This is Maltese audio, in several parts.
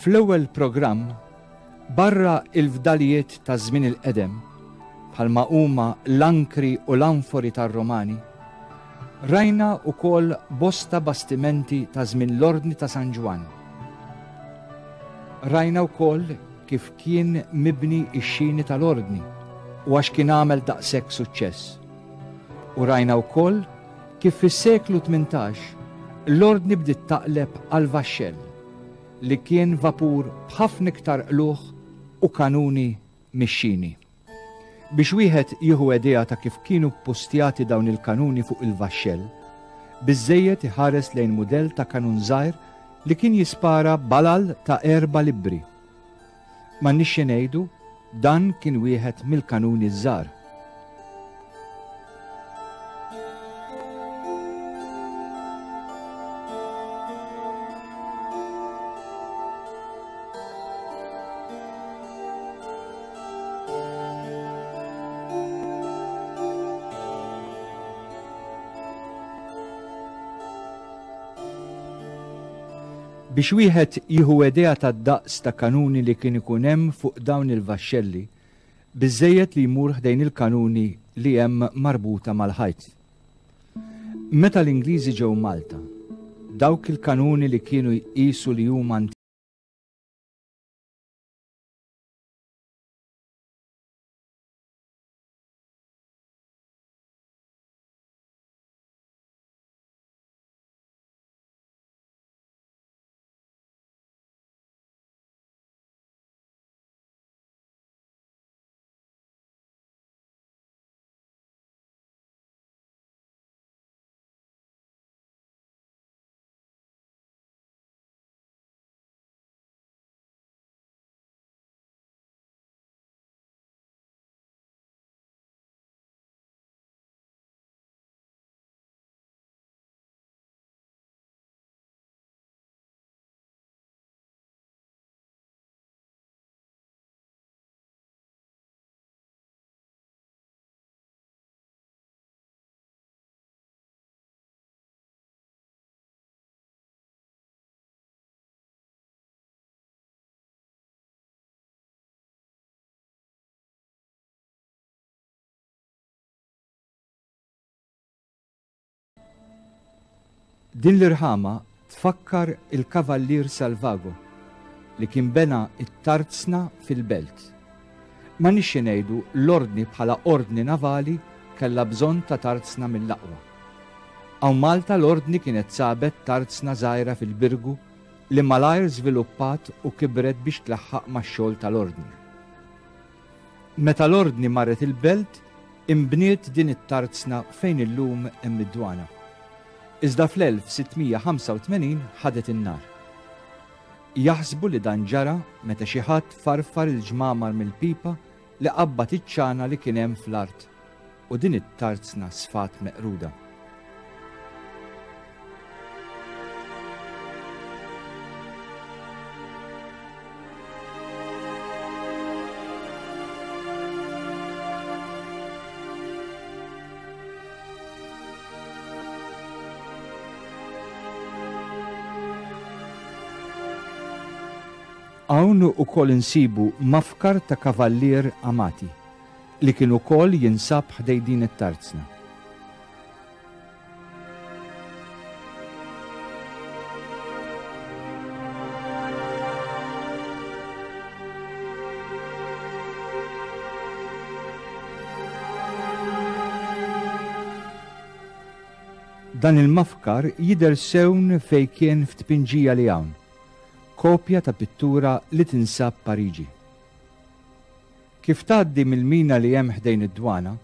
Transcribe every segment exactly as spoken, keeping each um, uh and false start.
Fl-ewwel programm, barra il-fdalijiet ta' żmien il-qedem, bħalma huma l-ankri u l-anfori tar-Romani, rajna wkoll bosta bastimenti ta' żmien l-Ordni ta' San Ġwann. Rajna wkoll kif kien mibni x-xini tal-Ordni u għax kien għamel daqshekk suċċess. U rajna wkoll kif fis-seklu tmintax l-Ordni bdiet taqleb għal vaxxell li kien vapur b'ħafna iktar qlugħ u kanuni mix-xini. Biex wieħed jieħu idea ta' kif kienu ppustjati dawn il-kanuni fuq il-vaxxell, biżżejjed iħares lejn mudell ta' kanun żgħir li kien jispara balal ta' erba' libbri. M'għandniex xi ngħidu, dan kien wieħed mill-kanuni żgħar. Biex wieħed jieħu idea tad-daqs ta' kanuni li kien ikun hemm fuq dawn il-vaxxelli, biżżejjed li jmur ħdejn il-kanuni li hemm marbuta mal-ħajt. Meta l-Ingliżi ġew Malta, dawk il-kanuni li kienu jqisu li huma Din l-irħama tfakkar il-Kavallier Salvago li kien bena it-tarzna fil-belt. Ma nixxi ngħidu l-ordni bħala ordni navali kellha bżonn ta' tarzna mill-aqwa. Hawn Malta l-ordni kienet sabet tarzna żgħira fil-Birgu li malajr żviluppat u kibret biex tlaħħaq max-xogħol tal-ordni. Meta l-ordni marret il-belt, imbniet din it-tarzna fejn illum hemm id-dwana. Iżda fl-elf sittmija ħamsa u tmenin ħadet in-nar. Jaħsbu li dan ġara meta xi ħadd farfar il-ġmamar mill-pipa li qabbat iċ-ċana li kien hemm fl-art u din it-tarzna sfat meqruda. Hawn ukoll insibu mafkar ta' Kavallier Amati li kien ukoll jinsab ħdej din it-tarzna. Dan il-mafkar jidher sewn fejn kien f'tpinġija li hawn, kopja ta' pittura li tinsab Pariġi. Kif tgħaddi mill-mina li hemm ħdejn id-dwana,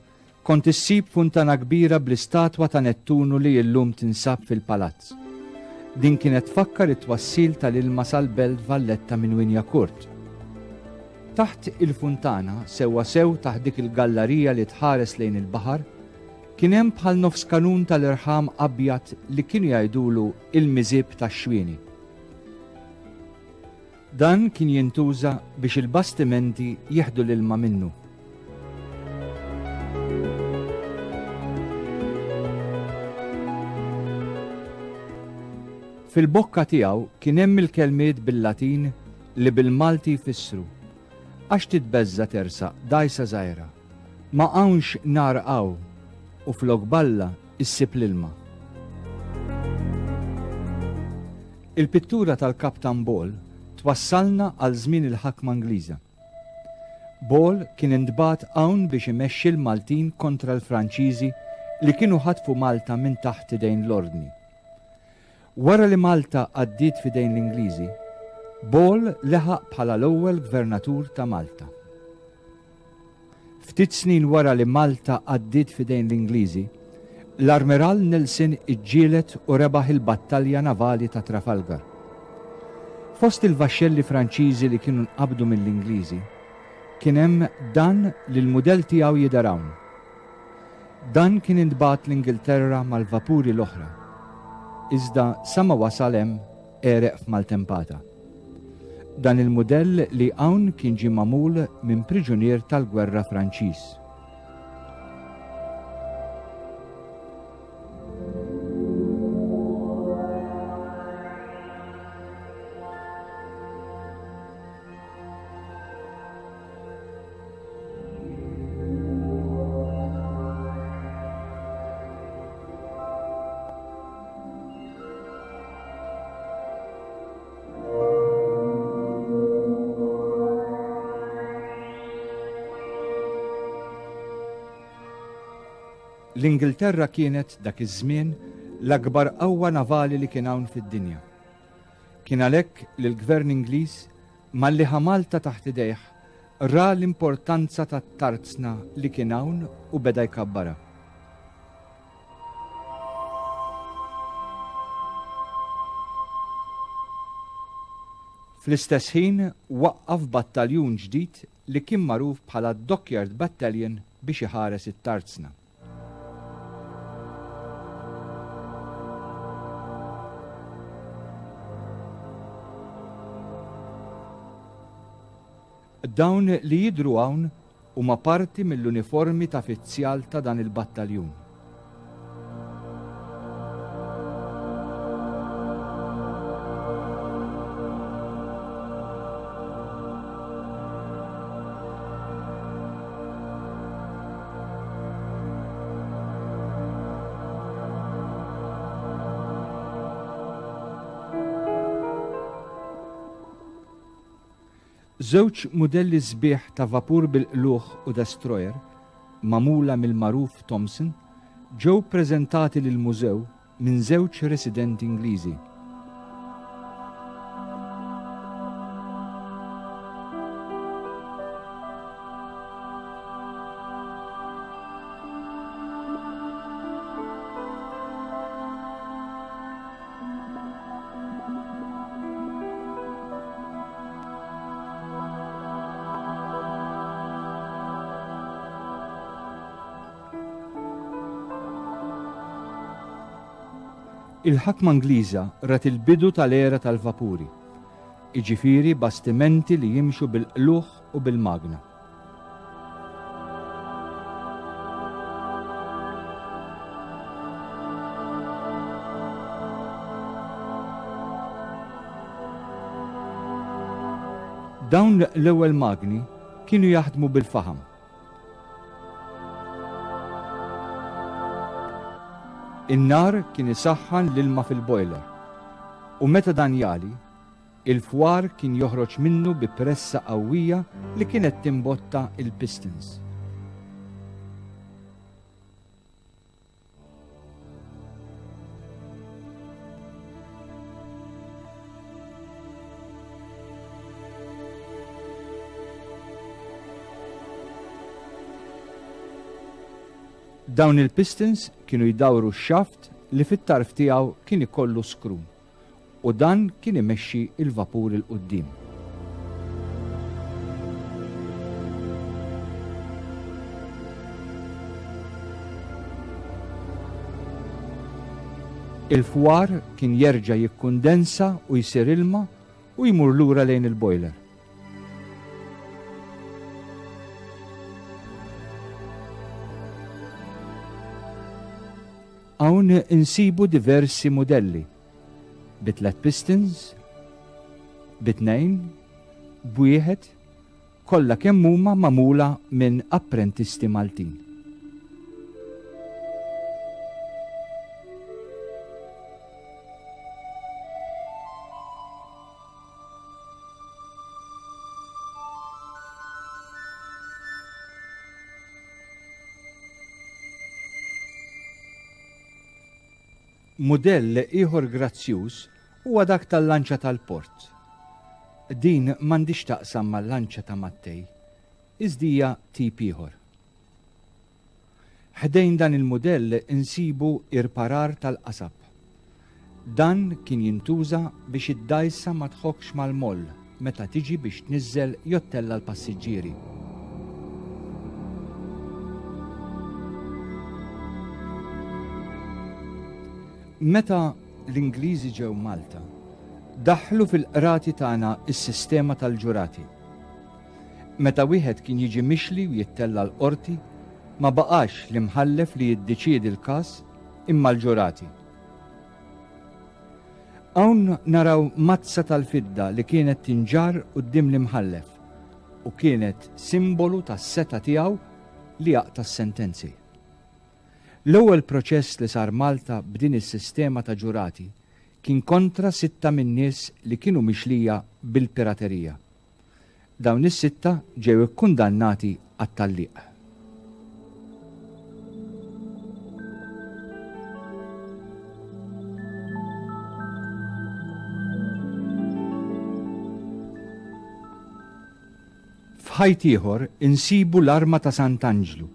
kont issib funtana kbira bl-istatwa ta' Nettunu li llum tinsab fil-palazz. Din kienet tfakkar it-twassil tal-ilma sal-Belt Valletta minn Wignacourt. Taħt il-funtana, sewwa sew taħt dik il-gallarija li tħares lejn il-baħar, kien hemm bħal nofs kanun tal-irħam abjad li kienu jgħidulu il-miżib tax-xwieni. Dan kien jintuża biex il-bastimenti jieħdu l-ilma minnu. Fil-bokka tiegħu kien hemm il-kelmiet bil-Latin li bil-Malti jfissru għax titbeżża tersaq dgħajsa żgħira, ma hawnx nar hawn u flok balla issib l-ilma. Il-pittura tal-Kaptan Ball twassalna għal żmien il-ħakma Ingliża. Ball kien intbagħat hawn biex imexxi l-Maltin kontra l-Franċiżi li kienu ħatfu Malta minn taħt idejn l-Ordni. Wara li Malta għaddiet f'idejn l-Ingliżi, Ball leħaq bħala l-ewwel gvernatur ta' Malta. Ftit snin wara li Malta għaddiet f'idejn l-Ingliżi, l-Armiral Nelson iġġieled u rebaħ il-battalja navali ta' Trafalgar. Fost il-vaxxelli Franċiżi li kienu nqabdu mill-Ingliżi, kien hemm dan li l-mudell tiegħu jidher hawn. Dan kien intbagħat l-Ingilterra mal-vapuri l-oħra. Iżda sa ma wasal hemm għereq f'maltempata. Dan il-mudell li hawn kien ġie magħmul minn priġunier tal-gwerra Franċiż. L-Ingilterra kienet dak iż-żmien l-akbar qawwa navali li kien hawn fid-dinja. Kien għalhekk li l-Gvern Ingliż malli ħa Malta taħt idejh ra l-importanza tat-tarzna li kien hawn u beda jkabbarha. Fl-istess ħin waqqaf battaljun ġdid li kien magħruf bħala Dockyard Battalion biex iħares it-tarzna. Dawn li jidhru hawn huma parti mill-uniformi ta' fizzjal ta' dan il-battaljun. Żewġ mudelli sbieħ ta' vapur bil-qlugħ u destroyer, magħmula mill-magħruf Thompson, ġew preżentati lill-mużew minn żewġ residenti Ingliżi. Il-ħakma Ingliża rat il-bidu tal-era tal-vapuri, jiġifieri bastimenti li jimxu bil-qlugħ u bil-magna. Dawn l-ewwel magni kienu jaħdmu bil-faħam. In-nar kien isaħħan l-ilma fil-boiler u meta dan jali, il-fwar kien joħroġ minnu bi pressa qawwija li kienet timbotta il-pistons. Dawn il-pistons kienu jdawru x-xaft li fit-tarf tiegħu kien ikollu skrun u dan kien imexxi il-vapur il quddiem. Il-fwar kien jerġa' jikkondensa u jsir ilma u jmur lura lejn il-boiler. Hawn insibu diversi modelli, bi tliet pistons, bi tnejn b'wieħed kollha kemm huma magħmula minn apprentisti Maltin. Mudell ieħor grazzjuż huwa dak tal-lanċa tal-port. Din m'għandix taqsam mal-lanċa ta' Mattei, iżda hija tip ieħor. Ħdejn dan il-mudell insibu irparar tal-qasab. Dan kien jintuża biex id-dgħajsa ma tħokkx mal-moll meta tiġi biex tniżżel jew ttella' l-passiġġieri. Meta l-Ingliżi ġew Malta, daħlu fil-qrati tagħna s-sistema tal-ġurati. Meta wieħed kien jiġi mixli u jittella l-qorti, ma baqax l-imħallef li jiddeċiedi l-każ imma l-ġurati. Hawn naraw mazza tal-fidda li kienet tinġarr quddiem l-imħallef u kienet simbolu tas-seta tiegħu li jaqta' s-sentenzi. L-ewwel proċess li sar Malta b'din is-sistema ta' ġurati kien kontra sitta min-nies li kienu mixlija bil-piraterija. Dawn is-sitta ġew ikkundannati għat-talliq. F'ħajt ieħor insibu l-arma ta' Sant'Anġlu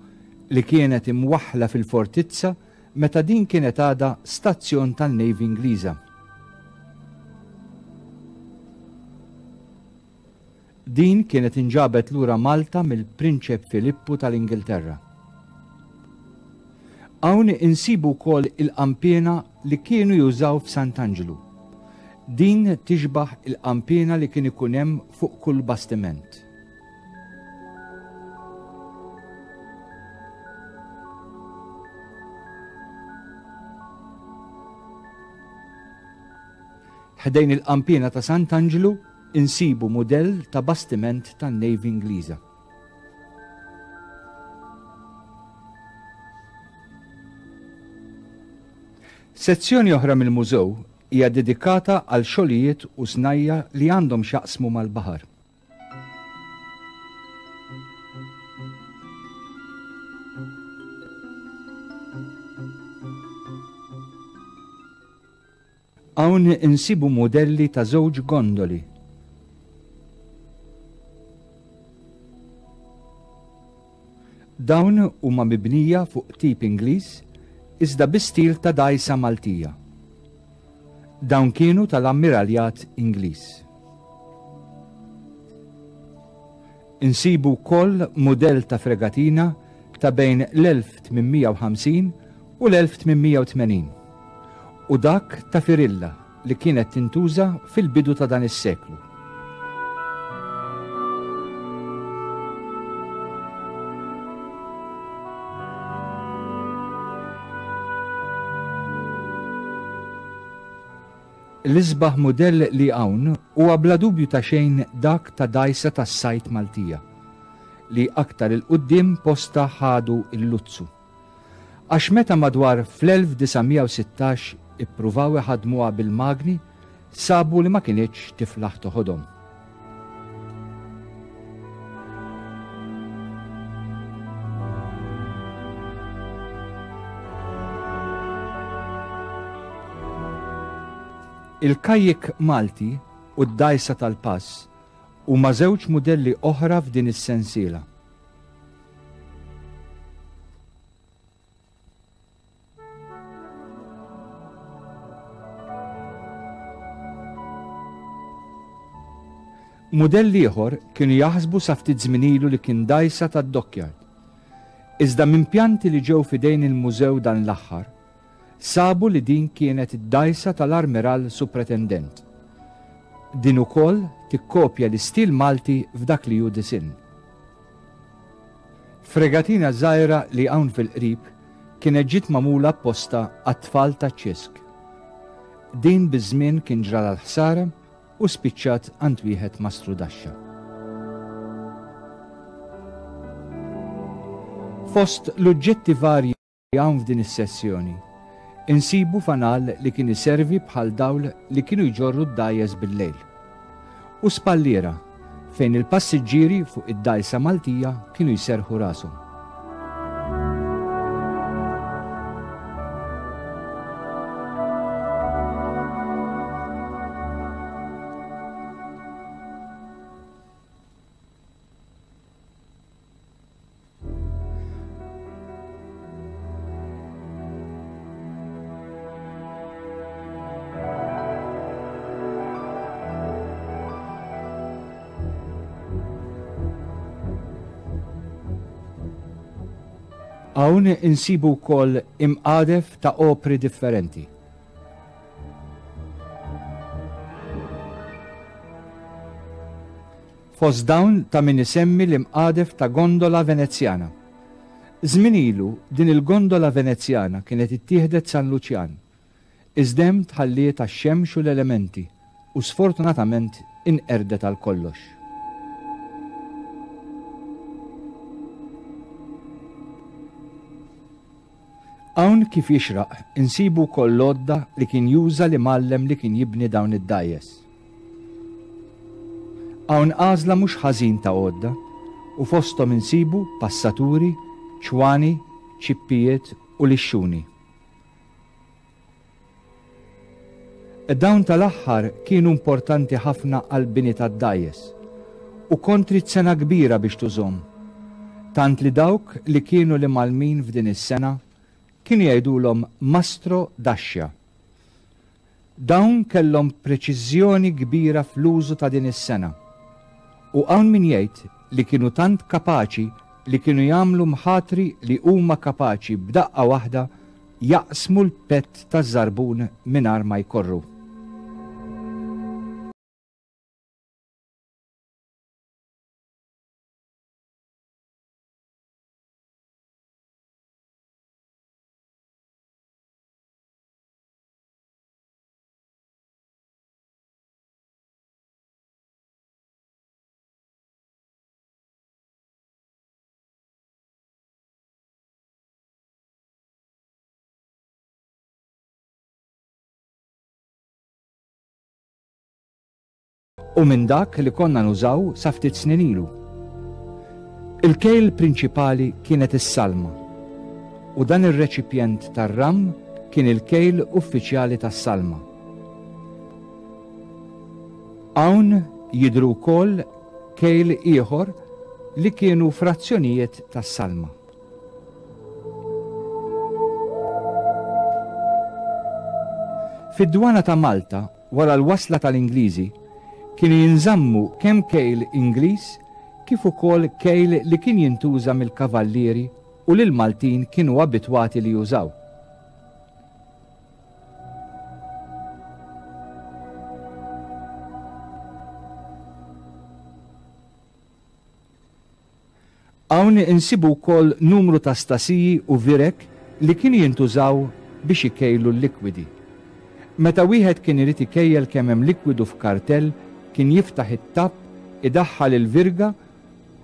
li kienet imwaħħla fil-fortizza meta din kienet għadha stazzjon tan-Navy Ingliża. Din kienet inġabet lura Malta mill-Prinċep Filippu tal-Ingilterra. Hawn insibu wkoll il-qampiena li kienu jużaw f'Sant'Anġlu. Din tixbaħ il-qampiena li kien ikun hemm fuq kull bastiment. Ħdejn il-qampiena ta' Sant'Anġlu insibu mudell ta' bastiment tan-Navy Ingliża. Sezzjoni oħra mill-mużew hija dedikata għal xogħlijiet u snajja li għandhom x'jaqsmu mal-baħar. Hawn insibu mudelli ta' żewġ gondoli. Dawn huma mibnija fuq tip Ingliż iżda bi stil ta' dgħajsa Maltija. Dawn kienu tal-Ammiraljat Ingliż. Insibu wkoll mudell ta' fregatina ta' bejn l-elf tmien mija u ħamsin u l-elf tmien mija u tmenin u dak ta' Firilla li kienet tintuża fil-bidu ta' dan is-seklu. L-isbaħ mudell li hawn huwa bla dubju ta' xejn dak ta' dgħajsa tas-sajt Maltija li aktar il-quddiem posta ħadu l-Luzzu. Għax meta madwar fl-elf disa' mija u sittax ippruvaw iħadmuha bil-magni, sabu li ma kinitx tiflaħ toħodhom. Il-kajjik Malti u d-dgħajsa tal-pass huma żewġ mudelli oħra f'din is-sensiela. Mudell ieħor kienu jaħsbu sa ftit żmien ilu li kien dgħajsa tad-dockyard. Iżda minn pjanti li ġew f'idejn il-mużew dan l-aħħar, sabu li din kienet id-dgħajsa tal-Armiral Supretendent. Din ukoll tikkopja l-istil Malti f'dak li hu disinn. Fregatina żgħira li hawn fil-qrib kienet ġiet magħmula apposta għat-tfal taċ-Ċisk. Din biż-żmien kien ġralha l-ħsara u spiċċat għand wieħed mastru daxxa. Fost l-oġġetti varji hawn f'din is-sessjoni, insibu fanal li kien iservi bħal dawl li kienu jġorru d-dgħajjes bil-lejl. U spalliera fejn il-passiġġieri fuq id-dgħajsa Maltija kienu jserħu rashom. Hawn insibu wkoll imqadef ta' opri differenti. Fost dawn ta' min isemmi l-imqadef ta' gondola Venezjana. Żmien ilu din il-gondola Venezjana kienet ittieħdet San Luċjan. Iżda hemm tħalliet għax-xemx u l-elementi u sfortunatament inqerdet għal kollox. Hawn kif jixraq insibu wkoll l-għodda li kien juża l-imgħallem li kien jibni dawn id-dgħajjes. Hawn għażla mhux ħażin ta' għodda u fosthom insibu passaturi, ċwani, ċippijiet u lixxuni. Dawn tal-aħħar kienu importanti ħafna għall-bini tad-dgħajjes u kontri sena kbira biex tużhom, tant li dawk li kienu l-imgħallmin f'din is-sena kienu jgħidulhom mastro daxxa. Dawn kellhom preċiżjoni kbira fl-użu ta' din is-sena. U hawn min jgħid li kienu tant kapaċi li kienu jagħmlu mħatri li huma kapaċi b'daqqa waħda jaqsmu l-pett taż-żarbun mingħajr ma jkorru. U minn dak li konna nużaw sa ftit snin ilu. Il-kejl prinċipali kienet is-salma u dan ir-reċipjent tar-ram kien il-kejl uffiċjali tas-salma. Hawn jidhru wkoll kejl ieħor li kienu frazzjonijiet tas-salma. Fid-dwana ta' Malta, wara l-wasla tal-Ingliżi, kienu jinżammu kemm kejl Ingliż kif ukoll kejl li kien jintuża mill-kavallieri u li l-Maltin kienu abitwati li jużaw. Hawn insibu wkoll numru ta' stasiji u virek li kienu jintużaw biex ikejlu l-likwidi. Meta wieħed kien irid ikejjel kemm hemm likwidu f'kartell, kien jiftaħ it-tapp, idaħħal il-virga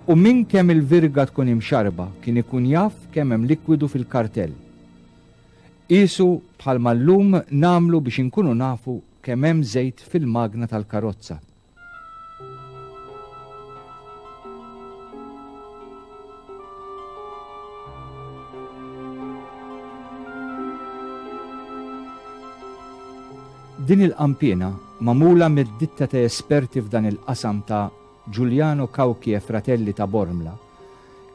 u minn kemm il-virga tkun imxarba kien ikun jaf kemm hemm likwidu fil-kartell. Qisu bħalma llum nagħmlu biex inkunu nafu kemm hemm żejt fil-magna tal-karozza. Din il-qanpiena magħmula mid-ditta ta' esperti f'dan il-qasam ta' Giuliano Cauchi e Fratelli ta' Bormla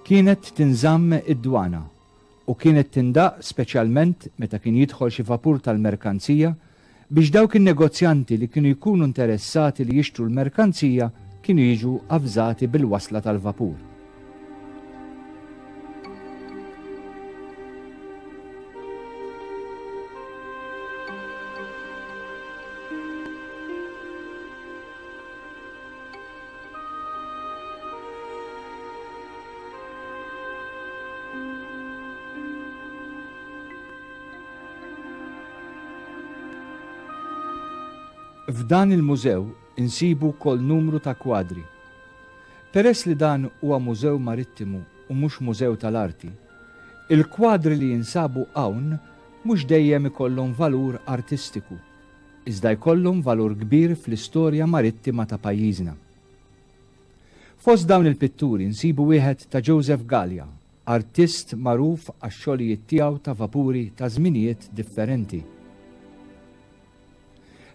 kienet tinżamm id-dwana u kienet tindaq speċjalment meta kien jidħol xi vapur tal-merkanzija biex dawk in-negozjanti li kienu jkunu interessati li jixtru l-merkanzija kienu jiġu avżati bil-wasla tal-vapur. F'dan il-mużew insibu wkoll numru ta' kwadri. Peress li dan huwa mużew marittimu u mhux mużew tal-arti, Il-kwadri li jinsabu hawn mhux dejjem ikollhom valur artistiku, iżda jkollhom valur kbir fl-istorja marittima ta' pajjiżna. Fost dawn il-pitturi nsibu wieħed ta' Joseph Gallia, artist magħruf għax-xogħlijiet tiegħu ta' vapuri ta' żminijiet differenti.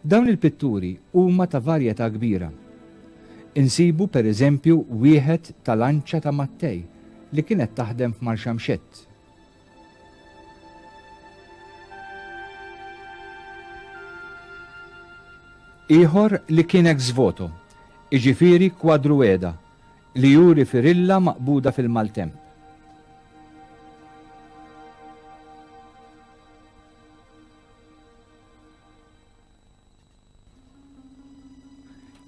Dawn il-pitturi huma ta' varjetà kbira. Insibu per eżempju wieħed ta' lanċa ta' Mattei li kienet taħdem f'Marxamxett. Ieħor li kien ex voto, jiġifieri kwadru qiegħda, li juri firilla maqbuda fil-maltemp.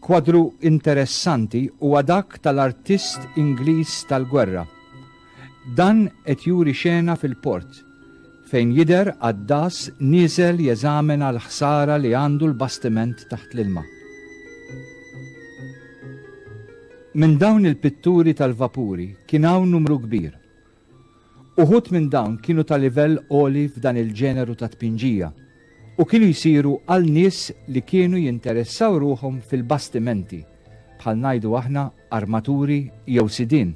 Kwadru interessanti huwa dak tal-artist Ingliż tal-gwerra. Dan qed juri xena fil-port, fejn jidher għaddas nieżel jeżamina l-ħsara li għandu l-bastiment taħt l-ilma. Minn dawn il-pitturi tal-vapuri kien hawn numru kbir. Uħud minn dawn kienu ta' livell għoli f'dan il-ġeneru ta' tpinġija u kienu jsiru għal nies li kienu jinteressaw ruħhom fil-bastimenti, bħal ngħidu aħna armaturi jew sidien.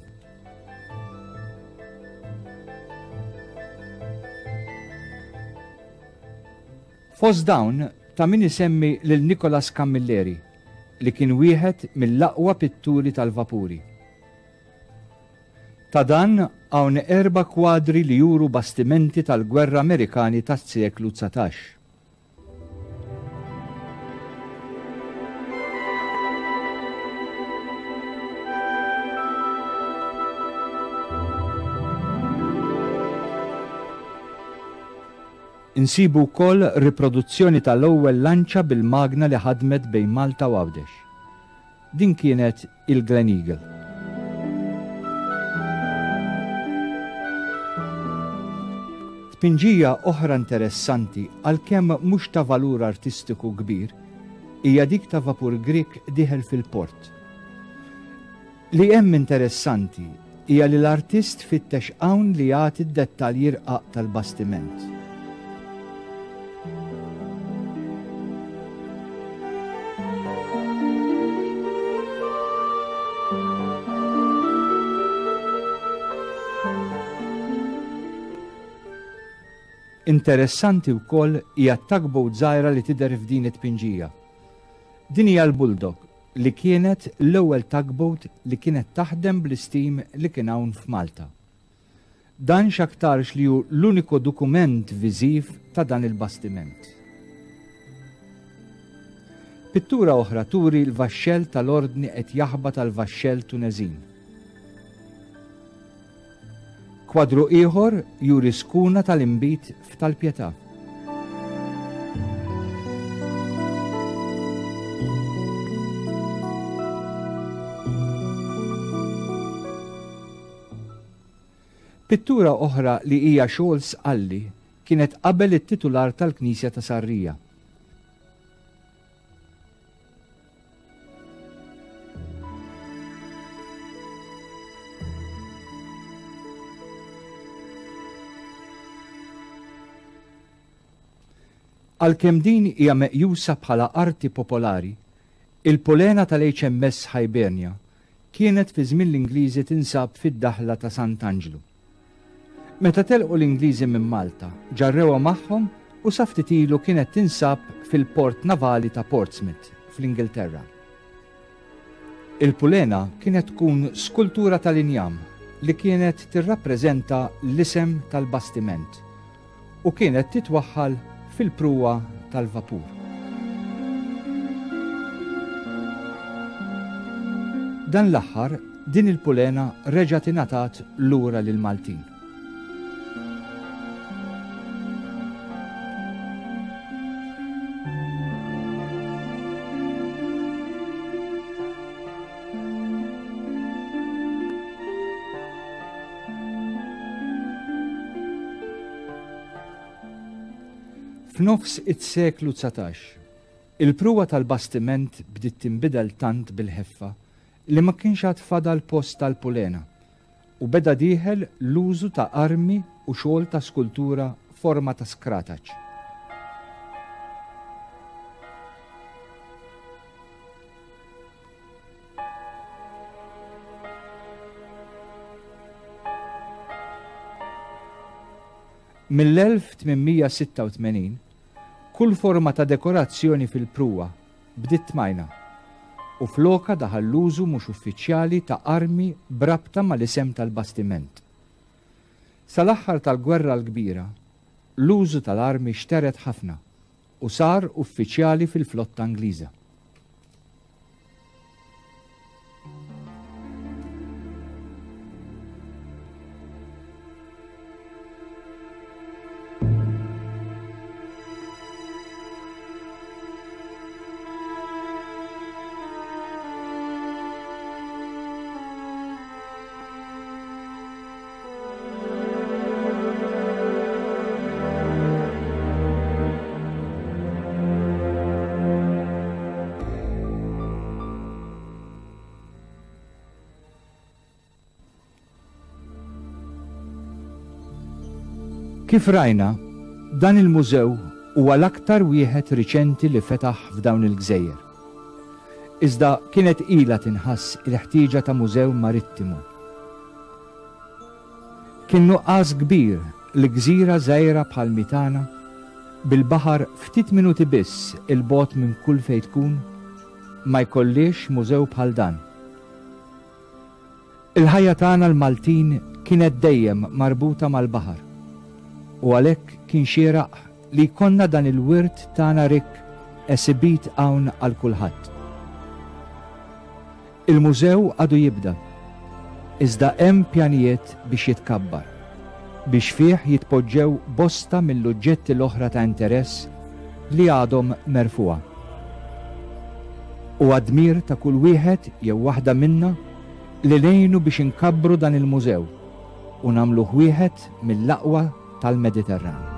Fost dawn ta' min isemmi lil Nicolas Camilleri, li kien wieħed mill-aqwa pitturi tal-vapuri. Ta' dan hawn erba' kwadri li juru bastimenti tal-gwerra Amerikani tas-seklu dsatax. Insibu wkoll riproduzzjoni tal-ewwel lanċa bil-magna li ħadmet bejn Malta u Għawdex. Din kienet il-Glen Eagle. Tpinġija oħra interessanti, għalkemm mhux ta' valur artistiku kbir, hija dik ta' vapur Grieg dieħel fil-port. Li hemm interessanti hija li l-artist fittex hawn li jagħti d-dettalji rqaq tal-bastiment. Interessanti wkoll hija t-tugboat żgħira li tidher f'din it-tpinġija. Din hija l-Bulldog li kienet l-ewwel tugboat li kienet taħdem bl-istim li kien hawn f'Malta. Dan x'aktarx li hu l-uniku dokument viżiv ta' dan il-bastiment. Pittura oħra turi l-vaxxell tal-ordni qed jaħbat għal vaxxell Tuneżin. Kwadru ieħor juri skuna tal-inbid f'Tal-Pietà. Pittura oħra li hija xogħol Sqalli kienet qabel it-titular tal-Knisja ta' Sarrija. Għalkemm din hija meqjusa bħala arti popolari, il-pulena tal-H M S Hibernia kienet fi żmien l-Ingliżi tinsab fid-daħla ta' Sant'Anġlu. Meta telqu l-Ingliżi minn Malta, ġarrewha magħhom u sa ftit ilu kienet tinsab fil-port navali ta' Portsmouth fl-Ingilterra. Il-pulena kienet tkun skultura tal-injam li kienet tirrappreżenta l-isem tal-bastiment u kienet titwaħħal fil-pruwa tal-vapur. Dan l-aħħar din il-pulena reġgħet ingħatat lura lil Maltin. F'nofs it-seklu dsatax, il-pruwa tal-bastiment bdiet tinbidel tant bil-ħeffa li ma kienx għad fadal post tal-pulena u beda dieħel l-użu ta' armi u xogħol ta' skultura forma ta' skrataċ. Mill-elf tmien mija sitta u tmenin, kull forma ta' dekorazzjoni fil-pruwa bdiet tmajna u floka daħal l-użu mhux uffiċjali ta' armi b'rabta mal-isem tal-bastiment. Sal-aħħar tal-Gwerra l-Kbira, l-użu tal-armi xteret ħafna u sar uffiċjali fil-flotta Ingliża. Kif rajna, dan il-mużew huwa l-aktar wieħed riċenti li fetaħ f'dawn il-gżejjer. Iżda kienet ilha tinħass il-ħtieġa ta' mużew marittimu. Kien nuqqas kbir li gżira żgħira bħal Mitana, bil-baħar ftit minuti biss il-bogħod minn kull fejn tkun, ma jkollix mużew bħal dan. Il-ħajja tagħna l-Maltin kienet dejjem marbuta mal-baħar, u għalhekk kien xieraq li jkollna dan il-wirt tagħna rikk esibit hawn għal kulħadd. Il-mużew għadu jibda, iżda hemm pjanijiet biex jitkabbar, biex fih jitpoġġew bosta mill-oġġetti l-oħra ta' interess li għadhom merfuha. U għadmir ta' kull wieħed jew waħda minna li ngħinu biex inkabbru dan il-mużew u nagħmluh wieħed mill-aqwa tal-Mediterran.